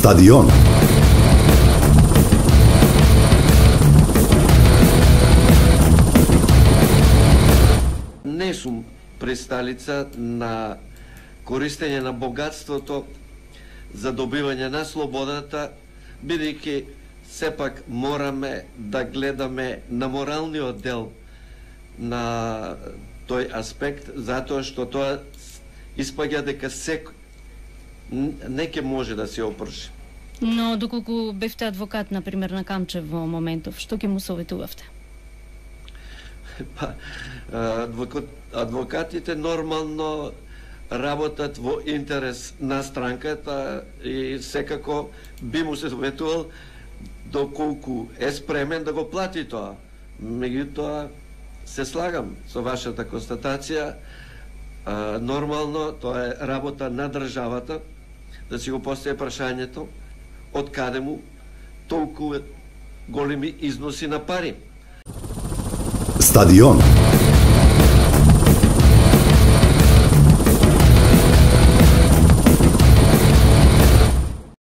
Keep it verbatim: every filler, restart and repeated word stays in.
Стадион. Не сум присталица на користење на богатството за добивање на слободата, бидејќи сепак мораме да гледаме на моралниот дел на тој аспект, затоа што тоа испаѓа дека секој не ќе може да се опрши. Но доколку бевте адвокат, например, на Камчев во моментов, што ќе му советувавте? Па, адвокат, адвокатите нормално работат во интерес на странката и секако би му се советувал доколку е спремен да го плати тоа. Меѓутоа, се слагам со вашата констатација, а, нормално тоа е работа на државата да си го постави прашањето од каде му толку големи износи на пари. Стадион.